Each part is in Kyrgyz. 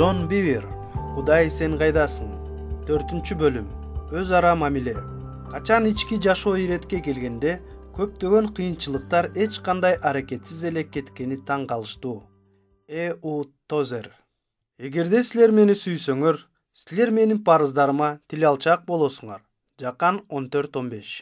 Джон Бивер, Кудай сен кайдасың? 4-бөлүм. Өз ара мамиле. Качан ички жашоо иретке келгенде көптөгөн кыйынчылыктар эч кандай аракетсиз эле кеткени таң калыштуу. У. Тозер. Эгерде силер мени сүйсөңөр, силер менин парыздарыма тил алчак болосуңар. Жакан 14-15.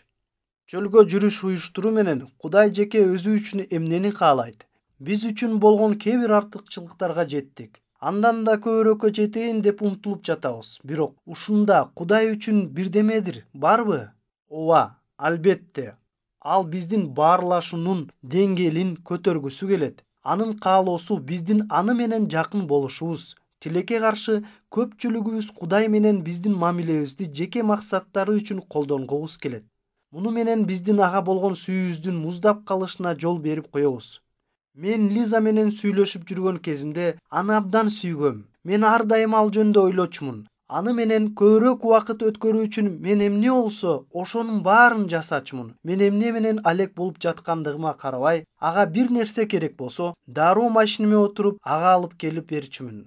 Чөлгө жүрүш уюштуруу менен Кудай жеке өзү үчүн эмнени каалайт? Биз үчүн болгон кээ бир артыкчылыктарга жеттик. Андан да көбүрөөккө жетейин деп умтулуп жатабыз. Бирок ушунда Кудай үчүн бирдемедир барбы? Ооба, албетте. Ал биздин баарлашуунун деңгээлин көтөргүсү келет. Анын каалоосу биздин аны менен жакын болушубуз. Тилекке каршы көпчүлүгүбүз Кудай менен биздин мамилебизди жеке максаттары үчүн колдонгубуз келет. Муну менен биздин ага болгон сүйүүбүздүн муздап калышына жол берип коебуз. Мен Лиза менен сүйлөшүп жүргөн кезимде аны абдан сүйгөм. Мен ар дайым ал жөнүндө ойлочумун. Аны менен көбүрөөк убакыт өткөрүү үчүн мен эмне болсо ошонун баарын жасачумун. Мен эмне менен алек болуп жаткандыгыма карабай, ага бир нерсе керек болсо, дароо машинеме отуруп, ага алып келип берчүмүн.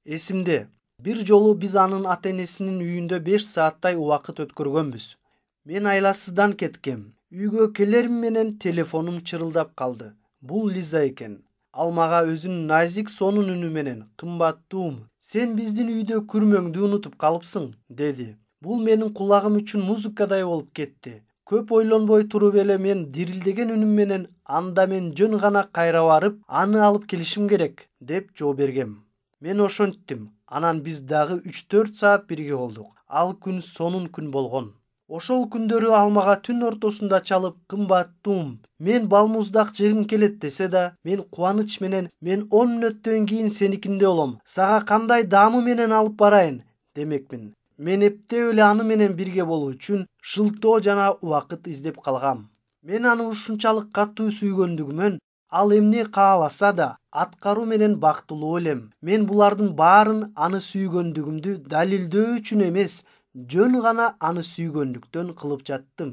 Эсимде, бир жолу биз анын ата-энесинин үйүндө 5 сааттай убакыт өткөргөнбүз. Мен айласыздан кеткем. Үйгө келерим менен телефонум чырылдап калды. Бул Лиза экен. Ал мага өзүнүн назик сонун үнү менен "Кымбаттуум, сен биздин үйдө күрмөңдү унутуп калыпсың" деди. Бул менин кулагым үчүн музыкадай болуп кетти. Көп ойлонбой туруп эле мен дирилдеген үнүм менен "Анда мен жөн гана кайра барып, аны алып келишим керек" деп жооп бергем. Мен ошонттим. Анан биз дагы 3-4 саат бирге болдук. Ал күн сонун күн болгон. Ошол күндөрү ал мага түн ортосунда чалып "Кымбаттуум, мен балмуздак жегим келет" десе да, мен кубаныч менен "Мен 10 мүнөттөн кийин сеникинде болом. Сага кандай даамы менен алып барайын" демекмин. Мен эптеп эле аны менен бирге болуу үчүн шылтоо жана убакыт издеп калгам. Мен аны ушунчалык катуу сүйгөндүгүмөн, ал эмне кааласа да аткаруу менен бактылуу элем. Мен булардын баарын аны сүйгөндүгүмдү далилдөө үчүн эмес, жөн гана аны сүйгөндүктөн кылып жаттым.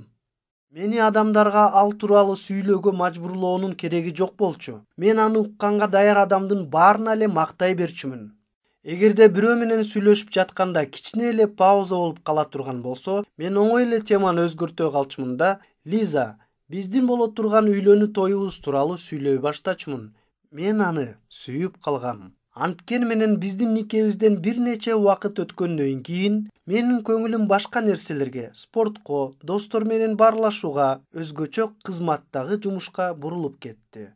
Мени адамдарга ал тууралуу сүйлөөгө мажбурлоонун кереги жок болчу. Мен аны укканга даяр адамдын баарына эле мактай берчүмүн. Эгерде бирөө менен сүйлөшүп жатканда кичине эле пауза болуп кала турган болсо, мен оңой эле теманы өзгөртө калчумун да "Лиза, биздин боло турган үйлөнүү тоюбуз тууралуу сүйлөй баштачумун". Мен аны сүйүп калгам. Анткени менен биздин никебизден бир нече убакыт өткөндөн кийин менин көңүлүм башка нерселерге, спортко, достор менен баарлашууга, өзгөчө кызматтагы жумушка бурулуп кетти.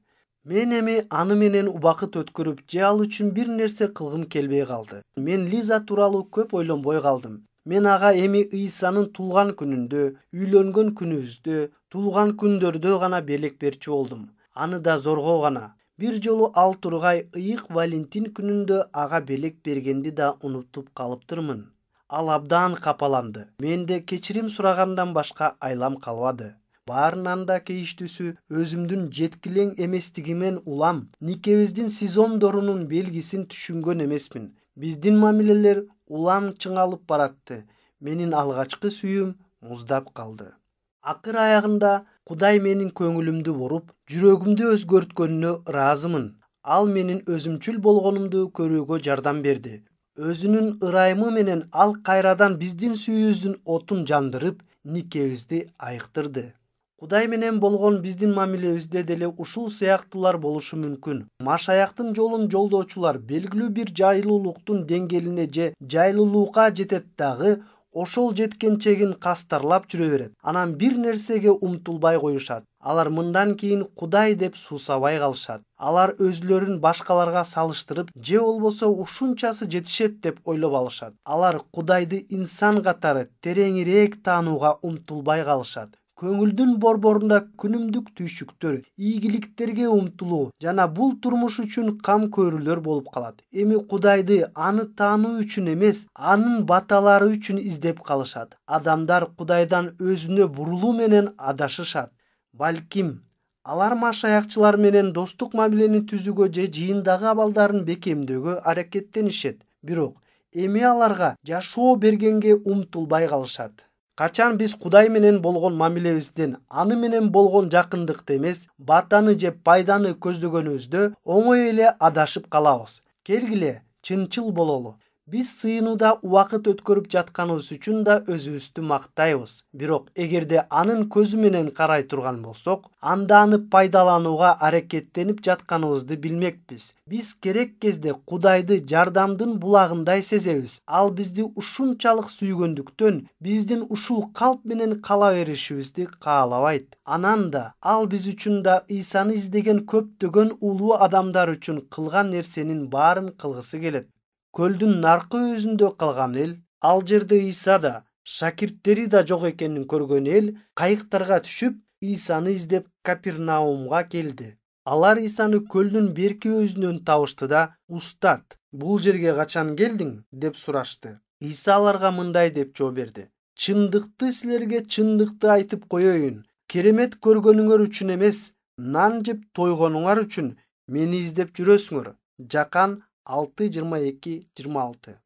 Мен эми аны менен убакыт өткөрүп же ал үчүн бир нерсе кылгым келбей калды. Мен Лиза тууралуу көп ойлонбой калдым. Мен ага эми Ыйсанын туулган күнүндө, үйлөнгөн күнүбүздө, туулган күндөрдө гана белек берчү болдум. Аны да зорго гана. Бир жолу ал тургай ыйык Валентин күнүндө ага белек бергенди да унутуп калыптырмын. Ал абдан капаланды. Менде кечирим сурагандан башка айлам калбады. Баарынан да кейиштүүсү, өзүмдүн жеткилең эместигимен улам никебиздин сезондорунун белгисин түшүнгөн эмесмин. Биздин мамилелер улам чыңалып баратты. Менин алгачкы сүйүүм муздап калды. Акыр аягында Кудай менин көңүлүмдү буруп, жүрөгүмдү өзгөрткөнүнө ыраазымын. Ал менин өзүмчүл болгонумду көрүүгө жардам берди. Өзүнүн ырайымы менен ал кайрадан биздин сүйүүбүздүн отун жандырып, никебизди айыктырды. Кудай менен болгон биздин мамилебизде деле ушул сыяктуулар болушу мүмкүн. Машаяктын жолун жолдоочулар белгилүү бир жайлуулуктун деңгээлине же жайлуулукка жетет дагы, ошол жеткен чегин кастарлап жүрө берет. Анан бир нерсеге умтулбай коюшат. Алар мындан кийин Кудай деп суусабай калышат. Алар өзүлөрүн башкаларга салыштырып, же болбосо ушунчасы жетишет деп ойлоп алышат. Алар Кудайды инсан катары тереңирээк таанууга умтулбай калышат. Көңүлдүн борборунда күнүмдүк түйшүктөр, ийгиликтерге умтулуу жана бул турмуш үчүн кам көрүүлөр болуп калат. Эми Кудайды аны таануу үчүн эмес, анын баталары үчүн издеп калышат. Адамдар Кудайдан өзүнө бурулуу менен адашышат. Балким, алар машаякчылар менен достук мамилени түзүүгө же жыйындагы абалдарын бекемдөөгө аракеттенишет. Бирок эми аларга жашоо бергенге умтулбай калышат. Качан биз Кудай менен болгон мамилебизден аны менен болгон жакындыкты эмес, батаны же пайданы көздөгөнүбүздө оңой эле адашып калабыз. Келгиле, чынчыл бололу. Биз сыйынууда убакыт өткөрүп жатканыбыз үчүн да өзүбүздү мактайбыз. Бирок эгерде анын көзү менен карай турган болсок, анда аны пайдаланууга аракеттенип жатканыбызды билмекпиз. Биз керек кезде Кудайды жардамдын булагындай сезебиз. Ал бизди ушунчалык сүйгөндүктөн биздин ушул калп менен кала беришибизди каалабайт. Анан да ал биз үчүн да Исаны издеген көптөгөн улуу адамдар үчүн кылган нерсенин баарын кылгысы келет. Көлдүн наркы өзүндө калган эл, ал жерде Иса да, шакирттери да жок экенин көргөн эл кайыктарга түшүп, Исаны издеп Капернаумга келди. Алар Исаны көлдүн берки өзүнөн табышты да: "Устат, бул жерге качан келдиң?" деп сурашты. Иса аларга мындай деп жооп берди: "Чындыкты силерге чындыкты айтып коеюн. Керемет көргөнүңөр үчүн эмес, нан жеп тойгонуңар үчүн мени издеп жүрөсүңөр." Жакан 6:22-26.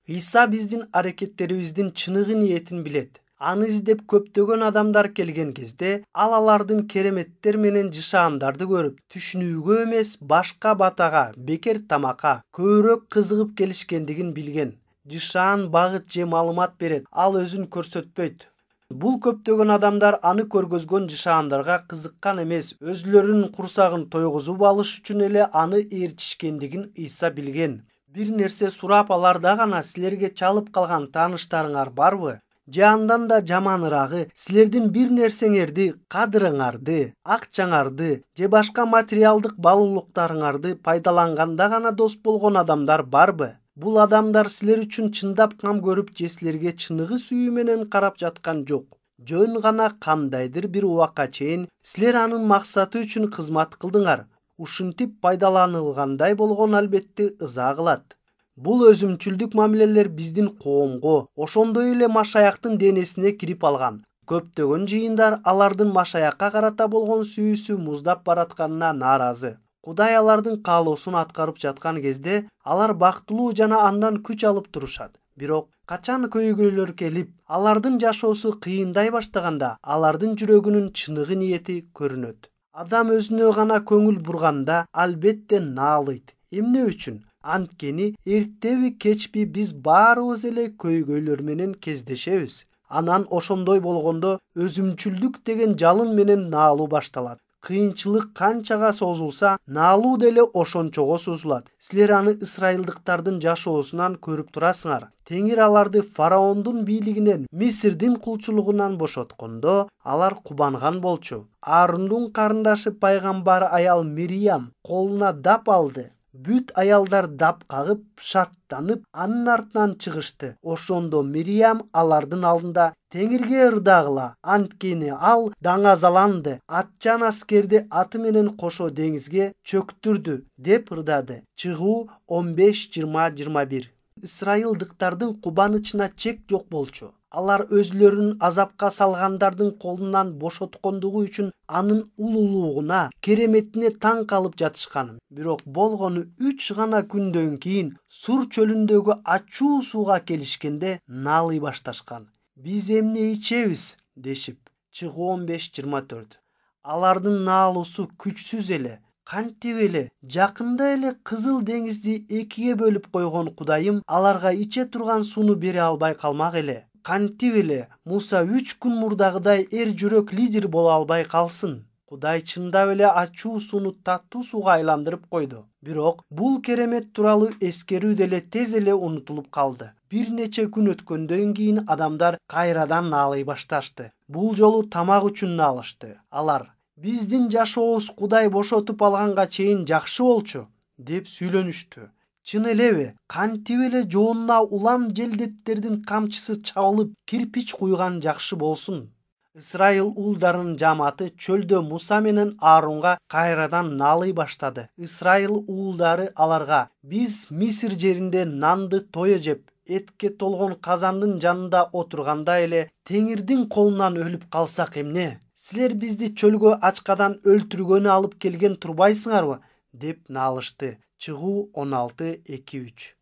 Иса биздин аракеттерибиздин чыныгы ниетин билет. Аны издеп көптөгөн адамдар келген кезде, ал алардын кереметтер менен жышаандарды көрүп, түшүнүүгө эмес, башка батага, бекер тамакка көбүрөөк кызыгып келишкендигин билген. Жышаан багыт же маалымат берет, ал өзүн көрсөтпөйт. Бул көптөгөн адамдар аны көргөзгөн жышаандарга кызыккан эмес, өзүлөрүнүн курсагын тойгузуп алыш үчүн эле аны ээрчишкендигин Иса билген. Бир нерсе сурап аларда гана: "Силерге чалып калган тааныштарыңар барбы?" Же андан да жаманырагы: "Силердин бир нерсеңерди, кадырыңарды, акчаңарды же башка материалдык баалуулуктарыңарды пайдаланганда гана дос болгон адамдар барбы?" Бул адамдар силер үчүн чындап кам көрүп же силерге чыныгы сүйүү менен карап жаткан жок. Жөн гана кандайдыр бир убакка чейин силер анын максаты үчүн кызмат кылдыңар. Ушинтип пайдаланылгандай болгон албетте ыза кылат. Бул өзүмчүлдүк мамилелер биздин коомго, ошондой эле Машаяктын денесине кирип алган. Көптөгөн жыйындар алардын Машаякка карата болгон сүйүүсү муздап баратканына нааразы. Кудай алардын каалоосун аткарып жаткан кезде алар бактылуу жана андан күч алып турушат. Бирок качан көйгөйлөр келип, алардын жашоосу кыйындай баштаганда, алардын жүрөгүнүн чыныгы ниети көрүнөт. Адам өзүнө гана көңүл бурганда албетте наалыйт. Эмне үчүн? Анткени эртеби кечпи биз баарыбыз эле көйгөйлөр менен кездешебиз. Анан ошондой болгондо өзүмчүлдүк деген жалын менен наалуу башталат. Кыйынчылык канчага созулса, наалуу деле ошончого созулат. Силер аны ысрайылдыктардын жашоосунан көрүп турасыңар. Теңир аларды фараондун бийлигинен, Мисирдин кулчулугунан бошоткондо, алар кубанган болчу. Аарундун карындашы пайгамбар аял Мириям колуна дап алды. Бүт аялдар дап кагып, шаттанып, анын артынан чыгышты. Ошондо Мириям алардын алдында: "Теңирге ырдагыла, анткени ал даңазаланды, атчан аскерди аты менен кошо деңизге чөктүрдү" деп ырдады. Чыгуу 15:20-21. Ысрайылдыктардын кубанычына чек жок болчу. Алар өзүлөрүн азапка салгандардын колунан бошоткондугу үчүн анын улуулугуна, кереметине таң калып жатышкан. Бирок болгону 3 гана күндөн кийин Сур чөлүндөгү ачуу сууга келишкенде наалый башташкан. "Биз эмне ичебиз?" дешип. Чыгуу 15:24. Алардын наалуусу күчсүз эле. Кантип эле жакында эле Кызыл деңизди экиге бөлүп койгон Кудайым аларга иче турган сууну бере албай калмак эле. Кантип эле Муса 3 күн мурдагыдай эр жүрөк лидер боло албай калсын? Кудай чындап эле ачуу сууну таттуу сууга айландырып койду. Бирок бул керемет тууралуу эскерүү деле тез эле унутулуп калды. Бир нече күн өткөндөн кийин адамдар кайрадан наалый башташты. Бул жолу тамак үчүн наалышты. Алар: "Биздин жашообуз Кудай бошотуп алганга чейин жакшы болчу" деп сүйлөнүштү. Чын элеби? Кантип эле жоонуна улам желдеттердин камчысы чабылып, кирпич куйган жакшы болсун. Исрайыл уулдарынын жамааты чөлдө Муса менен Аарунга кайрадан наалый баштады. Исрайыл уулдары аларга: "Биз Мисир жеринде нанды тое жеп, этке толгон казандын жанында отурганда эле Теңирдин колунан өлүп калсак эмне? Силер бизди чөлгө ачкадан өлтүргөнү алып келген турбайсыңарбы?" деп наалышты. Чыгуу 16:2-3.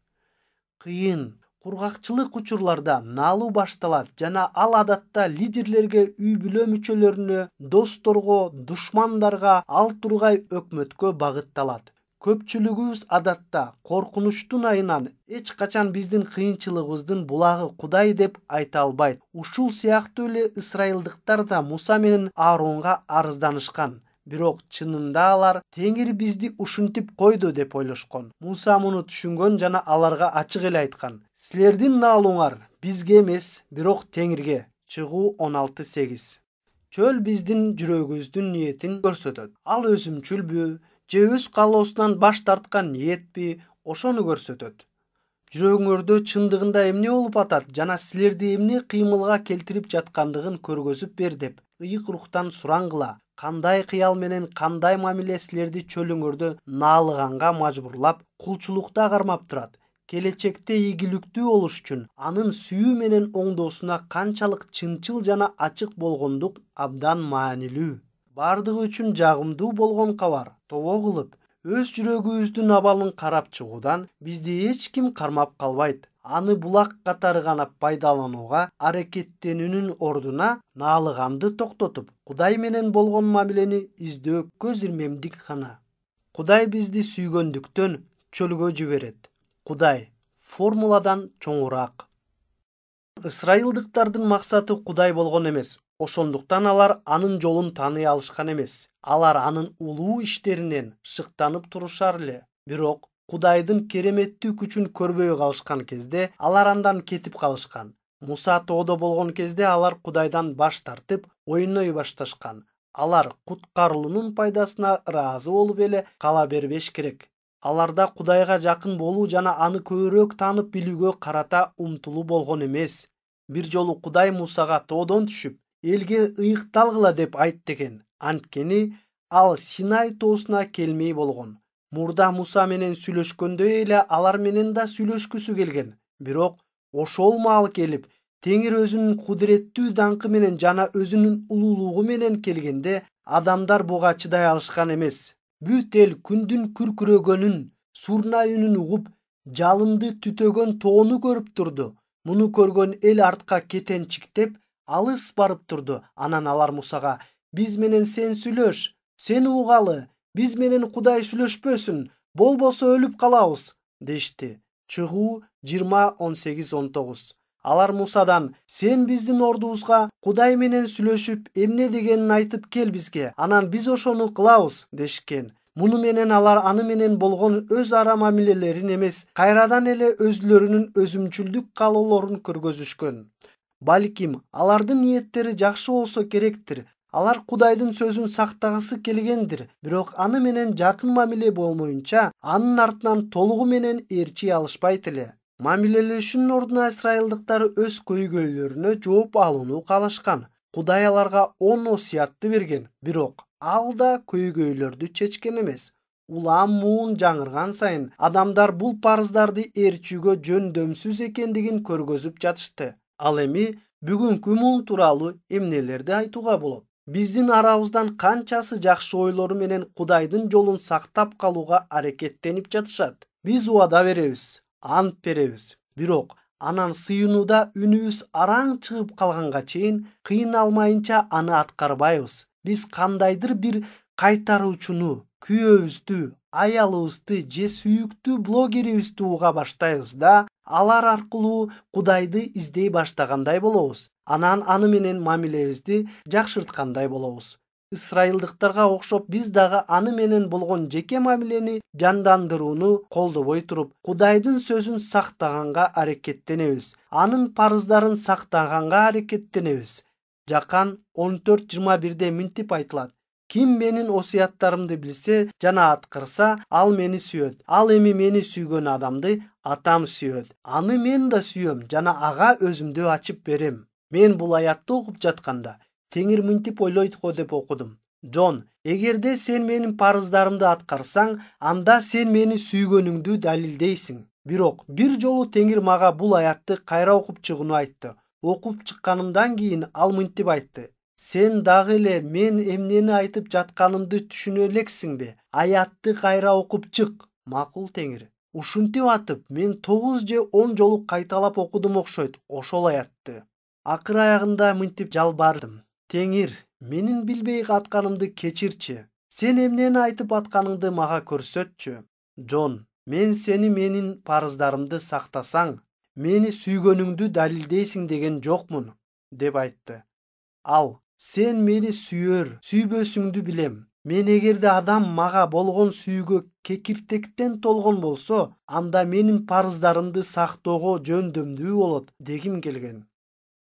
Кыйын, кургакчылык учурларда наалуу башталат жана ал адатта лидерлерге, үй-бүлө мүчөлөрүнө, досторго, душмандарга, ал тургай өкмөткө багытталат. Көпчүлүгүбүз адатта коркунучтун айынан эч качан биздин кыйынчылыгыбыздын булагы Кудай деп айта албайт. Ушул сыяктуу эле ысрайылдыктар да Муса менен Ааронго арызданышкан. Бирок чынында алар Теңир бизди ушинтип койду деп ойлошкон. Муса муну түшүнгөн жана аларга ачык эле айткан: силердин наалооңар бизге эмес, бирок Теңирге. Чыгуу 16:8. Чөл биздин жүрөгүбүздүн ниетин көрсөтөт. Ал өзүмчүлбү же өз каалоосунан баш тарткан ниетпи, ошону көрсөтөт. Жүрөгүңөрдө чындыгында эмне болуп атат жана силерди эмне кыймылга келтирип жаткандыгын көргөзүп бер деп ыйык рухтан сураңгыла. Кандай кыял менен кандай мамиле силерди чөлүңөрдө наалыганга мажбурлап, кулчулукта кармап турат? Келечекте ийгиликтүү болуш үчүн анын сүйүү менен оңдоосуна канчалык чынчыл жана ачык болгондук абдан маанилүү. Бардыгы үчүн жагымдуу болгон кабар. Тобо кылып, өз жүрөгүбүздүн абалын карап чыгуудан бизди эч ким кармап калбайт. Аны булак катары гана пайдаланууга аракеттенүүнүн ордуна наалыганды токтотуп, Кудай менен болгон мамилени издөө көз ирмемдик гана. Кудай бизди сүйгөндүктөн чөлгө жиберет. Кудай формуладан чоңураак. Ысрайылдыктардын максаты Кудай болгон эмес. Ошондуктан алар анын жолун тааный алышкан эмес. Алар анын улуу иштеринен шыктанып турушар эле. Бирок Кудайдын кереметтүү күчүн көрбөй калышкан кезде алар андан кетип калышкан. Муса тоодо болгон кезде алар Кудайдан баш тартып, ойной башташкан. Алар куткарылуунун пайдасына ыраазы болуп эле кала бербеш керек. Аларда Кудайга жакын болуу жана аны көбүрөөк таанып билүүгө карата умтулуу болгон эмес. Бир жолу Кудай Мусага тоодон түшүп, элге ыйыкталгыла деп айт деген. Анткени ал Синай тоосуна келмей болгон. Мурда Муса менен сүйлөшкөндөй эле алар менен да сүйлөшкүсү келген. Бирок ошол маал келип, Теңир өзүнүн кудуреттүү даңкы менен жана өзүнүн улуулугу менен келгенде адамдар буга чыдай алышкан эмес. Бүт эл күндүн күркүрөгөнүн, сурнай үнүн угуп, жалынды түтөгөн тоону көрүп турду. Муну көргөн эл артка кетенчиктеп, алыс барып турду. Анан алар Мусага: "Биз менен сен сүйлөш, сени угалы, биз менен Кудай сүйлөшпөсүн, болбосо өлүп калабыз" дешти. Чыгуу 20:18-19. Алар Мусадан: "Сен биздин ордубузга Кудай менен сүйлөшүп, эмне дегенин айтып кел бизге, анан биз ошону кылабыз" дешкен. Муну менен алар аны менен болгон өз ара мамилелерин эмес, кайрадан эле өзүлөрүнүн өзүмчүлдүк каалоолорун көргөзүшкөн. Балким алардын ниеттери жакшы болсо керектир. Алар Кудайдын сөзүн сактагысы келгендир, бирок аны менен жакын мамиле болмоюнча, анын артынан толугу менен ээрчий алышпайт эле. Мамилелешүүнүн ордуна исрайылдыктар өз көйгөйлөрүнө жооп алууну каалашкан. Кудай аларга 10 осуятты берген, бирок ал да көйгөйлөрдү чечкен эмес. Улам муун жаңырган сайын адамдар бул парыздарды ээрчүүгө жөндөмсүз экендигин көргөзүп жатышты. Ал эми бүгүнкү муун тууралуу эмнелерди айтууга болот? Биздин арабыздан канчасы жакшы ойлору менен Кудайдын жолун сактап калууга аракеттенип жатышат. Биз убада беребиз, ант беребиз, бирок анан сыйынууда үнүбүз араң чыгып калганга чейин кыйналмайынча аны аткарбайбыз. Биз кандайдыр бир кайтаруучуну, күйөөбүздү, аялыбызды же сүйүктүү блогерибизди уга баштайбыз да, алар аркылуу Кудайды издей баштагандай болобуз. Анан аны менен мамилебизди жакшырткандай болобуз. Исрайылдыктарга окшоп биз дагы аны менен болгон жеке мамилени жандандырууну колдобой туруп, Кудайдын сөзүн сактаганга аракеттенебиз. Анын парыздарын сактаганга аракеттенебиз. Жакан 14:21 мынтип айтылат: "Ким менин осуяттарымды билсе жана аткарса, ал мени сүйөт. Ал эми мени сүйгөн адамды Атам сүйөт. Аны мен да сүйөм жана ага өзүмдү ачып берем." Мен бул аятты окуп жатканда Теңир мынтип ойлойт го деп окудум: "Джон, эгерде сен менин парыздарымды аткарсаң, анда сен мени сүйгөнүңдү далилдейсиң." Бирок бир жолу Теңир мага бул аятты кайра окуп чыгууну айтты. Окуп чыкканымдан кийин ал мынтип айтты: "Сен дагы эле мен эмнени айтып жатканымды түшүнө элексиңби? Аятты кайра окуп чык." Макул Теңир. Ушинтип атып, мен 9 же 10 жолу кайталап окудум окшойт ошол аятты. Акыр аягында мынтип жалбардым: "Теңир, менин билбей атканымды кечирчи. Сен эмнени айтып атканыңды мага көрсөтчү." Жон, мен сени менин парыздарымды сактасаң, мени сүйгөнүңдү далилдейсиң деген жокмун, деп айтты. Ал, сен мени сүйбөсүңдү билем. Мен эгерде адам мага болгон сүйгө кекиртектен толгон болсо, анда менин парыздарымды сактоого жөндөмдүү болот дегим келген.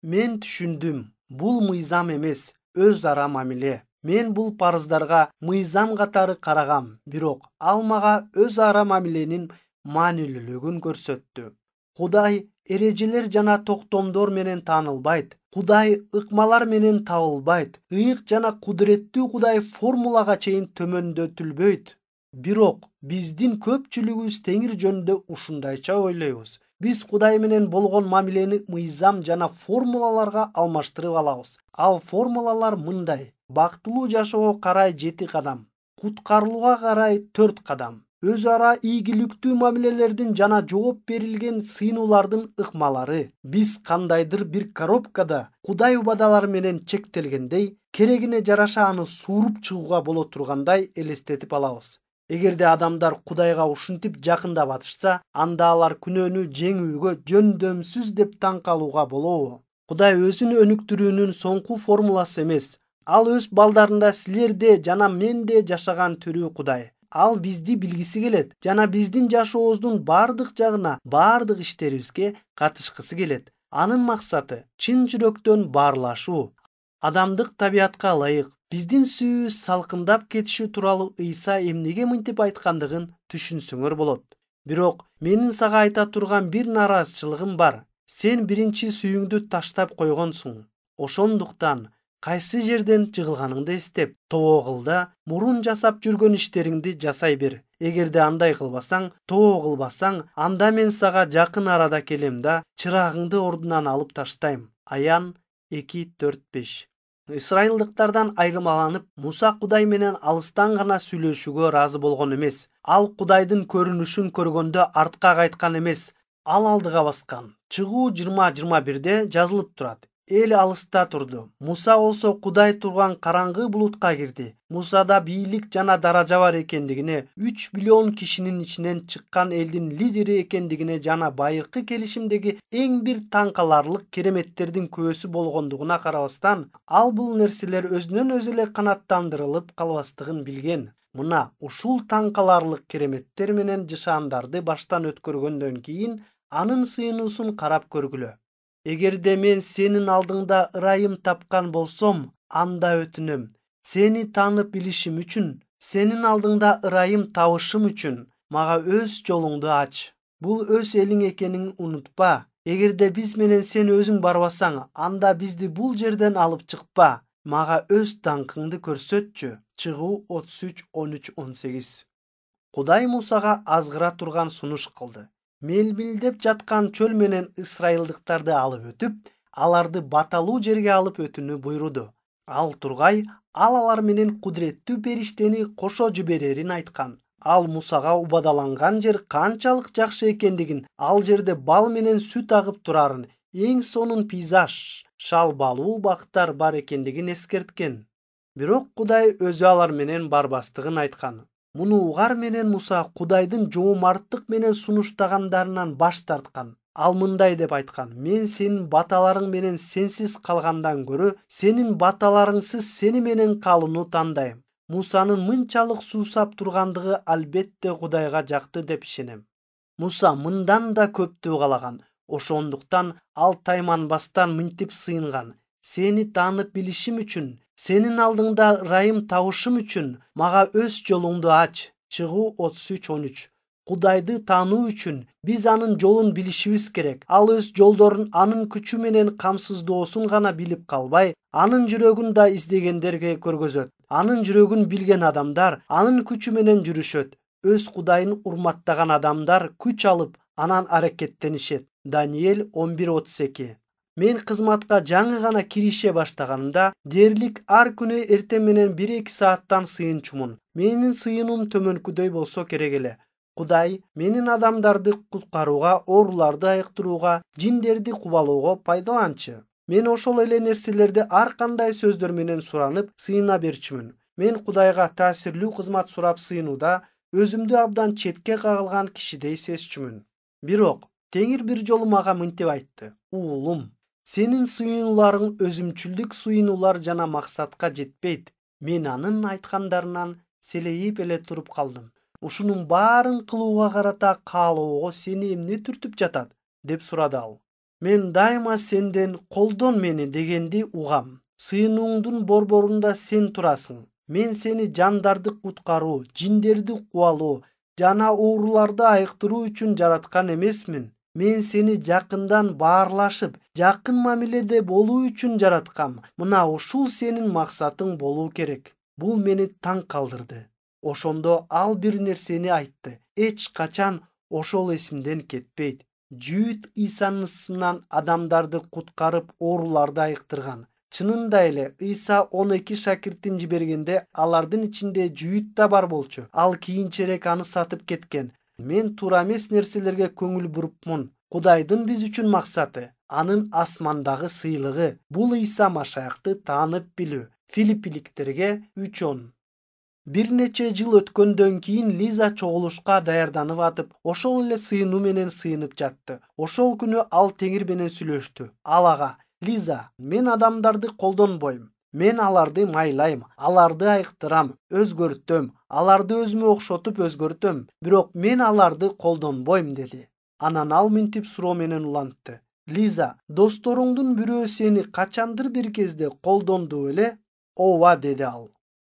Мен түшүндүм, бул мыйзам эмес, өз ара мамиле. Мен бул парыздарга мыйзам катары карагам, бирок ал мага өз ара мамиленин маанилүүлүгүн көрсөттү. Кудай эрежелер жана токтомдор менен таанылбайт. Кудай ыкмалар менен табылбайт. Ыйык жана кудуреттүү Кудай формулага чейин төмөндөтүлбөйт. Бирок биздин көпчүлүгүбүз Теңир жөнүндө ушундайча ойлойбуз. Биз Кудай менен болгон мамилени мыйзам жана формулаларга алмаштырып алабыз. Ал формулалар мындай: бактылуу жашоого карай 7 кадам, куткарылууга карай 4 кадам, өз ара ийгиликтүү мамилелердин жана жооп берилген сыйынуулардын ыкмалары. Биз кандайдыр бир коробкада Кудай убадалары менен чектелгендей, керегине жараша аны сууруп чыгууга боло тургандай элестетип алабыз. Эгерде адамдар Кудайга ушинтип жакындап атышса, анда алар күнөөнү жеңүүгө жөндөмсүз деп таң калууга болобу? Кудай өзүн өнүктүрүүнүн соңку формуласы эмес. Ал өз балдарында силерде жана менде жашаган түрүү Кудай. Ал бизди билгиси келет жана биздин жашообуздун бардык жагына, бардык иштерибизге катышкысы келет. Анын максаты чын жүрөктөн баарлашуу, адамдык табиятка ылайык. Биздин сүйүүбүз салкындап кетиши тууралуу Ыйса эмнеге мынтип айткандыгын түшүнсөңөр болот. Бирок менин сага айта турган бир нараазычылыгым бар. Сен биринчи сүйүүңдү таштап койгонсуң. Ошондуктан кайсы жерден жыгылганыңды эстеп, тобогулда мурун жасап жүргөн иштериңди жасай бер. Эгерде андай кылбасаң, кылбасаң, анда мен сага жакын арада келем да чырагыңды ордунан алып таштайм. Аян 2:4-5. Исраилдыктардан айырмаланып, Муса Кудай менен алыстан гана сүйлөшүүгө ыраазы болгон эмес. Ал Кудайдын көрүнүшүн көргөндө артка кайткан эмес, ал алдыга баскан. Чыгуу 20:21 жазылып турат. Эл алыста турду. Муса болсо Кудай турган караңгы булутка кирди. Мусада бийлик жана даража бар экендигине, 3 миллион кишинин ичинен чыккан элдин лидери экендигине жана байыркы келишимдеги эң бир таң каларлык кереметтердин көөсү болгондугуна карабастан, ал бул нерселер өзүнөн өзү эле канааттандырылып калбастыгын билген. Мына ушул таң каларлык кереметтер менен жышаандарды баштан өткөргөндөн кийин анын сыйынуусун карап көргүлө. Эгерде мен сенин алдыңда ырайым тапкан болсом, анда өтүнөм. Сени таанып билишим үчүн, сенин алдыңда ырайым табышым үчүн мага өз жолуңду ач. Бул өз элиң экенин унутпа. Эгерде биз менен сен өзүң барбасаң, анда бизди бул жерден алып чыкпа. Мага өз даңкыңды көрсөтчү. Чыгуу 33:13-18. Кудай Мусага азгыра турган сунуш кылды. Мелмилдеп жаткан чөл менен ысрайылдыктарды алып өтүп, аларды баталуу жерге алып өтүүнү буйруду. Ал тургай, алар менен кудуреттүү периштени кошо жиберерин айткан. Ал Мусага убадаланган жер канчалык жакшы экендигин, ал жерде бал менен сүт агып турарын, эң сонун пейзаж, шалбалуу бактар бар экендигин эскерткен. Бирок Кудай өзү алар менен барбастыгын айткан. Муну угар менен Муса Кудайдын жоомарттык менен сунуштагандарынан баш тарткан. Ал мындай деп айткан: мен сенин баталарың менен сенсиз калгандан көрө, сенин баталарыңсыз сени менен калууну тандайм. Мусанын мынчалык суусап тургандыгы албетте Кудайга жакты деп ишенем. Муса мындан да көптү каалаган. Ошондуктан ал тайманбастан мынтип сыйынган: сени таанып билишим үчүн, сенин алдыңда ырайым табышым үчүн мага өз жолуңду ач. Чыгуу 33:13. Кудайды таануу үчүн биз анын жолун билишибиз керек. Ал өз жолдорун анын күчү менен камсыздоосун гана билип калбай, анын жүрөгүн да издегендерге көргөзөт. Анын жүрөгүн билген адамдар анын күчү менен жүрүшөт. Өз Кудайын урматтаган адамдар күч алып, анан аракеттенишет. Даниэль 11:32. Мен кызматка жаңы гана кирише баштаганымда, дээрлик ар күнү эртең менен 1-2 сааттан сыйынчумун. Менин сыйынуум төмөнкүдөй болсо керек эле. Кудай менин адамдарды куткарууга, ооруларды айыктырууга, жиндерди кубалоого пайдаланчы. Мен ошол эле нерселерди ар кандай сөздөр менен суранып, сыйына берчүмүн. Мен Кудайга таасирлүү кызмат сурап сыйынууда өзүмдү абдан четке кагылган кишидей сезчүмүн. Бирок Теңир бир жолу мага мынтип айтты: "Уулум, сенин сыйынууларың өзүмчүлдүк сыйынуулар жана максатка жетпейт." Мен анын айткандарынан селейип эле туруп калдым. "Ушунун баарын кылууга карата каалоого сени эмне түртүп жатат?" деп сурады ал. "Мен дайыма сенден колдон мени дегенди угам. Сыйынууңдун борборунда сен турасың. Мен сени жандарды куткаруу, жиндерди кубалоо жана ооруларды айыктыруу үчүн жараткан эмесмин. Мен сени жакындан баарлашып, жакын мамиледе болуу үчүн жараткам. Мына ушул сенин максатың болуу керек." Бул мени таң калтырды. Ошондо ал бир нерсени айтты. Эч качан ошол эсимден кетпейт. Жүйүт Исанын ысымынан адамдарды куткарып, ооруларды айыктырган. Чынында эле Иса 12 шакиртин жибергенде алардын ичинде жүйүт да бар болчу. Ал кийинчерээк аны сатып кеткен. Мен туура эмес нерселерге көңүл бурупмун. Кудайдын биз үчүн максаты, анын асмандагы сыйлыгы бул Иса Машаякты таанып билүү. Филиппиликтерге 3:10. Бир нече жыл өткөндөн кийин Лиза чогулушка даярданып атып, ошол эле сыйынуу менен сыйынып жатты. Ошол күнү ал Теңир менен сүйлөштү. Ал ага: "Лиза, мен адамдарды колдонбойм. Мен аларды майлайм, аларды айыктырам, өзгөртөм, аларды өзүмө окшотуп өзгөртөм. Бирок мен аларды колдонбойм" деди. Анан ал мынтип суроо менен улантты: "Лиза, досторуңдун бирөө сени качандыр бир кезде колдонду беле?" "Ооба" деди ал.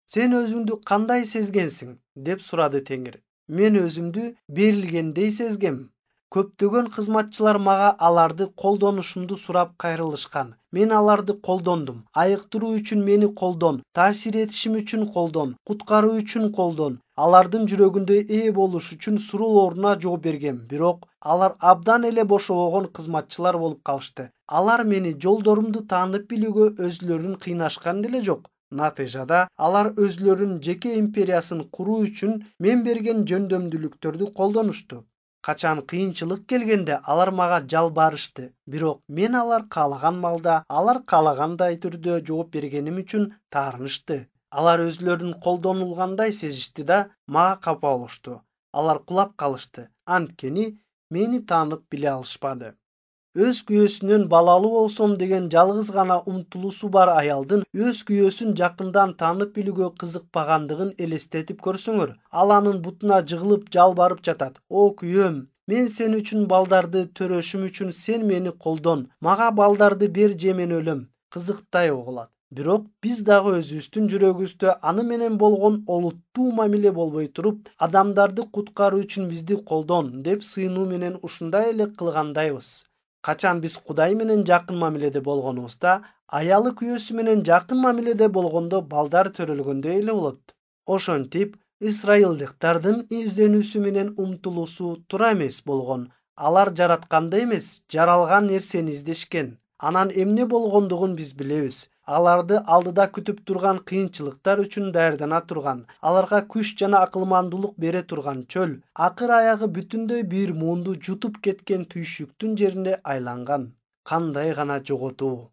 "Сен өзүңдү кандай сезгенсиң?" деп сурады Теңир. "Мен өзүмдү берилгендей сезгем. Көптөгөн кызматчылар мага аларды колдонушумду сурап кайрылышкан. Мен аларды колдондум. Айыктыруу үчүн мени колдон, таасир этишим үчүн колдон, куткаруу үчүн колдон. Алардын жүрөгүндө ээ болуш үчүн суроолоруна жооп бергем. Бирок алар абдан эле бошобогон кызматчылар болуп калышты. Алар мени жолдорумду таанып билүүгө өзүлөрүн кыйнашкан деле жок. Натыйжада алар өзүлөрүнүн жеке империясын куруу үчүн мен берген жөндөмдүүлүктөрдү колдонушту. Качан кыйынчылык келгенде алар мага жалбарышты. Бирок мен алар каалаган маалда, алар каалагандай түрдө жооп бергеним үчүн таарынышты. Алар өзүлөрүн колдонулгандай сезишти да мага капа болушту. Алар кулап калышты. Анткени мени таанып биле алышпады." Өз күйөөсүнөн балалуу болсом деген жалгыз гана умтулуусу бар аялдын өз күйөөсүн жакындан таанып билүүгө кызыкпагандыгын элестетип көрсөңөр. Ал анын бутуна жыгылып жалбарып жатат: "О күйөөм, мен сен үчүн балдарды төрөшүм үчүн сен мени колдон. Мага балдарды бер же мен өлөм." Кызыктай угулат. Бирок биз дагы өзүбүздүн жүрөгүбүздө аны менен болгон олуттуу мамиле болбой туруп, адамдарды куткаруу үчүн бизди колдон деп сыйынуу менен ушундай эле кылгандайбыз. Качан биз Кудай менен жакын мамиледе болгонубузда, аялы күйөөсү менен жакын мамиледе болгондо балдар төрөлгөндөй эле болот. Ошентип, исраилдыктардын изденүүсү менен умтулуусу туура эмес болгон. Алар жаратканды эмес, жаралган нерсени издешкен. Анан эмне болгондугун биз билебиз. Аларды алдыда күтүп турган кыйынчылыктар үчүн даярдана турган, аларга күч жана акылмандуулук бере турган чөл, акыр аягы бүтүндөй бир муунду жутуп кеткен түйшүктүн жерине айланган. Кандай гана жоготуу.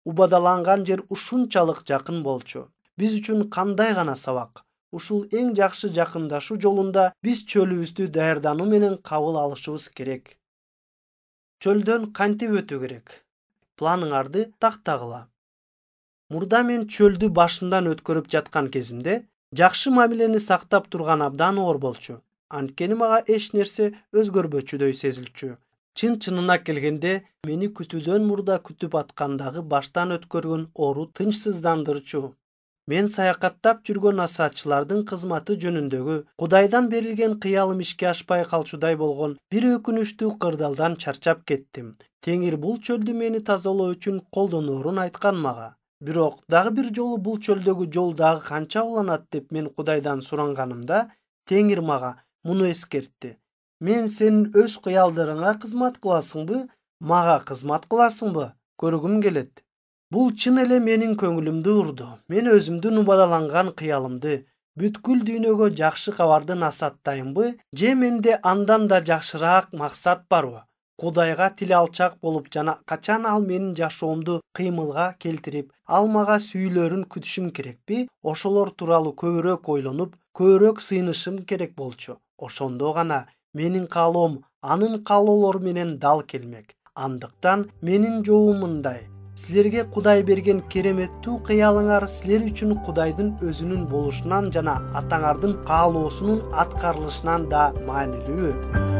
Убадаланган жер ушунчалык жакын болчу. Биз үчүн кандай гана сабак. Ушул эң жакшы жакындашуу жолунда биз чөлүбүздү даярдануу менен кабыл алышыбыз керек. Чөлдөн кантип өтүү керек? Планыңарды тактагыла. Мурда мен чөлдү башымдан өткөрүп жаткан кезимде жакшы мамилени сактап турган абдан оор болчу. Анткени мага эч нерсе өзгөрбөчүдөй сезилчү. Чын-чынына келгенде, мени күтүүдөн мурда күтүп аткандагы баштан өткөргөн оору тынчсыздандырчу. Мен саякаттап жүргөн насаатчылардын кызматы жөнүндөгү Кудайдан берилген кыялым ишке ашпай калчудай болгон бир өкүнүчтүү кырдаалдан чарчап кеттим. Теңир бул чөлдү мени тазалоо үчүн колдоноорун айткан мага. Бирок дагы бир жолу бул чөлдөгү жол дагы канча уланат деп мен Кудайдан суранганымда, Теңир мага муну эскертти: "Мен сенин өз кыялдарыңа кызмат кыласыңбы, мага кызмат кыласыңбы? Көргүм келет." Бул чын эле менин көңүлүмдү урду. Мен өзүмдүн убадаланган кыялымды, бүткүл дүйнөгө жакшы кабарды насааттаймбы, же менде андан да жакшыраак максат барбы? Кудайга тил алчак болуп жана качан ал менин жашоомду кыймылга келтирип, ал мага сүйлөрүн күтүшүм керекпи? Ошолор тууралуу көбүрөөк ойлонуп, көбүрөөк сыйынышым керек болчу. Ошондо гана менин каалоом анын каалоолору менен дал келмек. Андыктан менин жообум мындай: силерге Кудай берген кереметтүү кыялыңар силер үчүн Кудайдын өзүнүн болушунан жана атаңардын каалоосунун аткарылышынан да маанилүүбү?